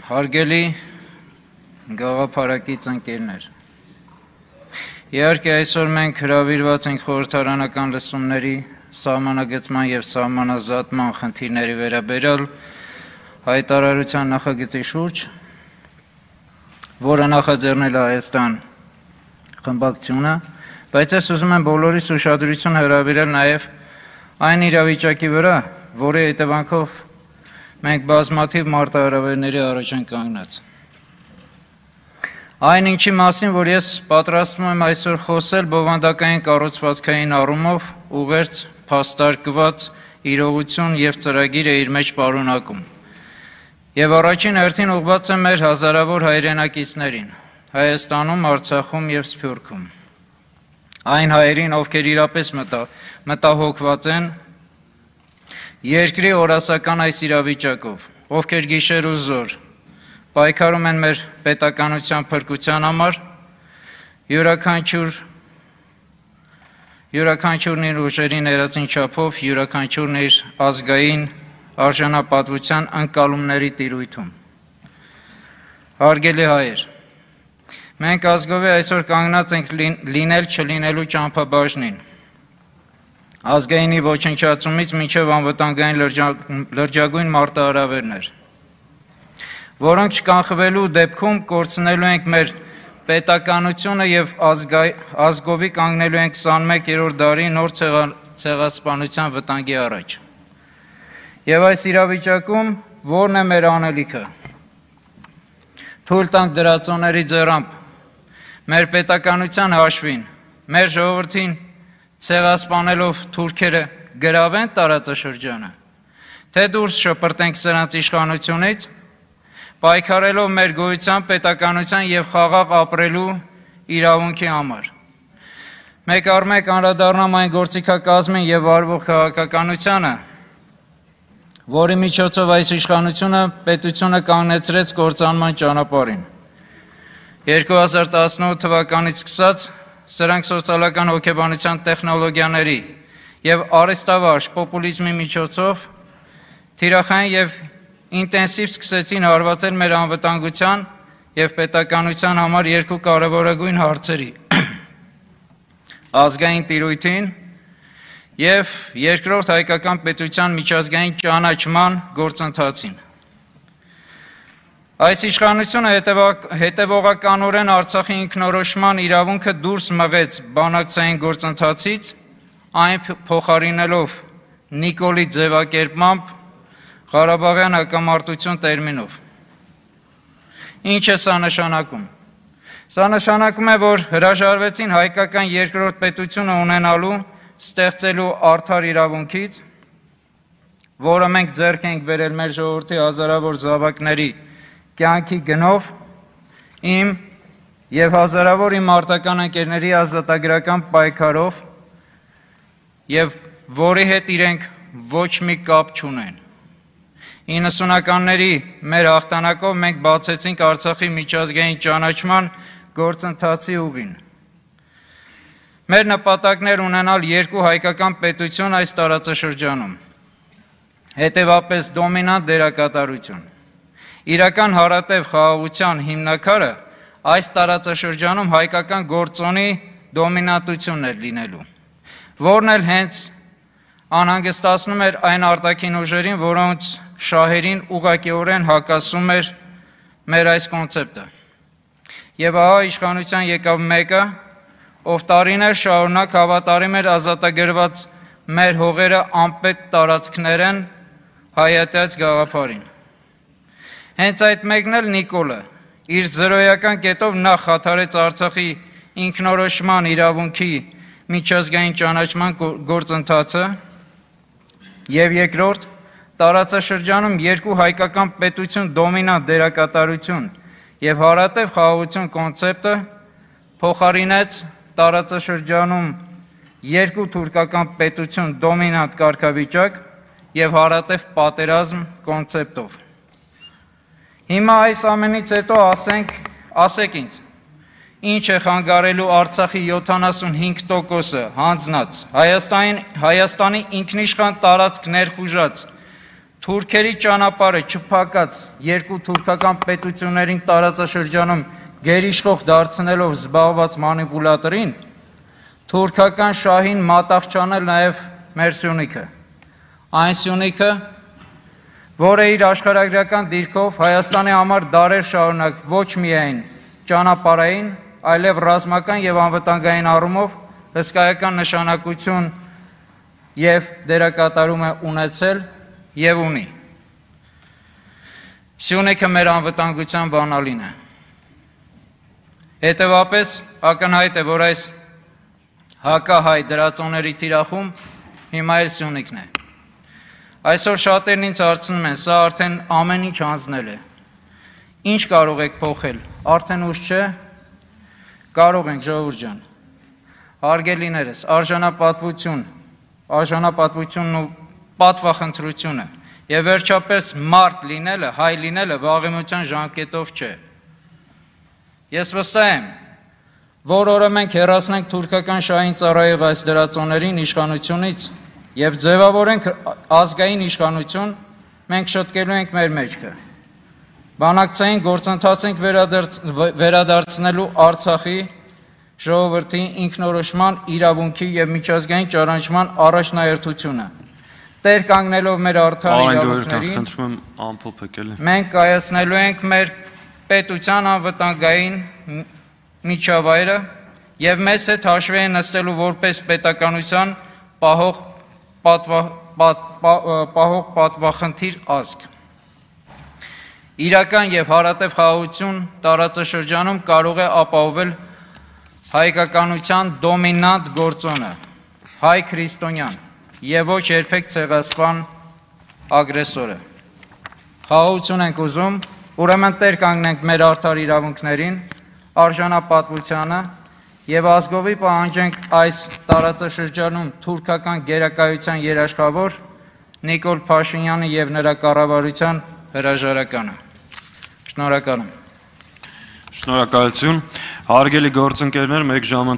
Հարգելի գաղափարակից ընկերներ, իհարկե այսօր մենք հրավիրված ենք խորհրդարանական լսումների սահմանագծման և սահմանազատման խնդիրների վերաբերյալ հայտարարության նախագծի շուրջ, որը նախաձեռնել է Հայաստան խմբակցությունը, բայց ես ուզում եմ բոլորիս ուշադրությունը հրավիրել նաև այն իրավիճակի վրա, որի հետևանքով մենք բազմաթիվ մարտահրավերների առաջ ենք կանգնած։ Այն ինչի մասին, որ ես պատրաստվում եմ այսօր խոսել բովանդակային կառուցվածքային առումով ուղերձ փաստարկված իրողություն և ծրագիր է իր մեջ պարունակում։ Եվ առաջին հերթին ուղղված է մեր հազարավոր հայրենակիցներին, Հայաստանում, Արցախում և Սփյուռքում։ Այն հայերին, ովքեր իրապես մտահոգված են երկրի օրասական այս իրավիճակով, ովքեր գիշեր ու զօր պայքարում են մեր պետականության փրկության համար, յուրաքանչյուրն իր ուժերի ներածին չափով, յուրաքանչյուրն իր ազգային արժանապատվության ընկալումների տիրույթում։ Հարգելի հայեր, մենք ազգովի այսօր կանգնած ենք լինել չլինելու ճամփաբաժնին, ազգայինի ոչնչացումից մինչև անվտանգային լրջագույն մարտահրավերներ, որոնք չկանխվելու դեպքում կորցնելու ենք մեր պետականությունը և ազգովի կանգնելու ենք 21-րդ դարի նոր ցեղասպանության վտանգի առաջ։ Եվ այս իրավիճակում ո՞րն է մեր անելիքը։ Թույլ տանք դրածոների ձեռամբ մեր պետականության հաշվին, մեր ժողովրդին ցեղասպանելով թուրքերը գրավեն տարածաշրջանը, թե դուրս շպրտենք սրանց իշխանությունից, պայքարելով մեր գոյության, պետականության և խաղաղ ապրելու իրավունքի համար։ Մեկ առ մեկ անդրադառնամ այն գործիքակազմին և վարվող քաղաքականությանը, որի միջոցով այս իշխանությունը պետությունը կանգնեցրեց կործանման ճանապարհին։ 2018 թվականից սկսած սրանք սոցիալական հոգեբանության տեխնոլոգիաների և արհեստավարժ պոպուլիզմի միջոցով թիրախային և ինտենսիվ սկսեցին հարվածել մեր անվտանգության և պետականության համար երկու կարևորագույն հարցերի՝ ազգային տիրույթին և երկրորդ հայկական պետության միջազգային ճանաչման գործընթացին։ Այս իշխանությունը հետևողականորեն Արցախի ինքնորոշման իրավունքը դուրս մղեց բանակցային գործընթացից, այն փոխարինելով Նիկոլի ձևակերպմամբ Ղարաբաղյան հակամարտություն տերմինով։ Ինչ է սա նշանակում։ Սա նշանակում է, որ հրաժարվեցին հայկական երկրորդ պետությունը ունենալու, ստեղծելու արդար իրավունքից, որը մենք ձեռք ենք բերել մեր ժողովրդի հազարավոր զավակների կյանքի գնով, իմ և հազարավոր իմ մարտական ընկերների ազատագրական պայքարով և որի հետ իրենք ոչ մի կապ չունեն։ 90-ականների մեր հաղթանակով մենք բացեցինք Արցախի միջազգային ճանաչման գործընթացի ուղին։ Մեր նպատակն էր ունենալ երկու հայկական պետություն այս տարածաշրջանում, հետևապես դոմինանտ դերակատարություն։ Իրական հարատև խաղաղության հիմնաքարը այս տարածաշրջանում հայկական գործոնի դոմինանտությունն էր լինելու, որն էլ հենց անհանգստացնում էր այն արտաքին ուժերին, որոնց շահերին ուղղակիորեն հակասում էր մեր այս կոնցեպտը։ Եվ ահա իշխանության եկավ մեկը, ով տարիներ շարունակ հավատարիմ էր ազատագրված մեր հողերը անպետ տարածքներեն հայհատած գաղափարին։ Հենց այդ մեկն էլ Նիկոլը իր զրոյական կետով նախ խաթարեց Արցախի ինքնորոշման իրավունքի միջազգային ճանաչման գործընթացը և երկրորդ տարածաշրջանում երկու հայկական պետություն դոմինանտ դերակատարություն և հարատև խաղաղություն կոնցեպտը փոխարինեց տարածաշրջանում երկու թուրքական պետություն դոմինանտ կարգավիճակ և հարատև պատերազմ կոնցեպտով։ Հիմա այս ամենից հետո ասեք ինձ, ինչ է խանգարելու Արցախի 75%-ը հանձնած, Հայաստանի ինքնիշխան տարածք ներխուժած Թուրքերի ճանապարհը չփակած երկու թուրքական պետություններին տարածաշրջանում գերիշխող դարձնելով զբաղված մանիպուլատորին, թուրքական շահին մատաղ չանել նաև մեր Սյունիքը, այն Սյունիքը, որը իր աշխարհագրական դիրքով Հայաստանի համար դարեր շարունակ ոչ միայն ճանապարհային, այլև ռազմական եւ անվտանգային առումով հսկայական նշանակություն եւ դերակատարում է ունեցել եւ ունի։ Սյունիքը մեր անվտանգության բանալին է։ Հետևաբար ակնհայտ է, որ այս հակահայ դրածոների թիրախում հիմա էլ Սյունիքն է։ Այսօր շատերն ինձ հարցնում են, սա արդեն ամեն ինչ հանձնել է։ Ինչ կարող եք փոխել, արդեն ուշ չէ։ Կարող ենք, ժողովուրդ ջան, հարգելիներս, արժանապատվությունն ու պատվախնդրությունը եւ վերջապես մարդ լինելը, հայ լինելը վաղեմության ժամկետով չէ։ Ես վստահ եմ, որ օրը մենք հեռացնենք թուրքական շահին ծառայող այս դրածոներին իշխանությունից եւ ձևավորենք ազգային իշխանություն, մենք շտկելու ենք մեր մեջքը։ Բանակցային գործընթաց ենք վերադարձնելու Արցախի ժողովրդի ինքնորոշման իրավունքի եւ միջազգային ճանաչման առաջնահերթությունը։ Տեր կանգնելով մեր արդար իրավունքներին, մենք կայացնելու ենք մեր պետության անվտանգային միջավայրը եւ մեզ հետ հաշվի են նստելու որպես պետականության պահող պատվախնդիր ազգ։ Իրական եւ հարատև խաղաղություն տարածաշրջանում կարող է ապահովել հայկականության դոմինանտ գործոնը, հայ քրիստոնյան եւ ոչ երբեք ցեղասպան ագրեսորը։ Խաղաղություն ենք ուզում, ուրեմն տեր կանգնենք մեր արդար իրավունքներին, արժանապատվությանը եւ ազգովի պահանջենք այս տարածաշրջանում թուրքական գերակայության երաշխավոր Նիկոլ Փաշինյանը եւ նրա կառավարության հրաժարականը։ Շնորհակալ եմ։ Շնորհակալություն։ Հարգելի գործընկերներ, 1 ժամ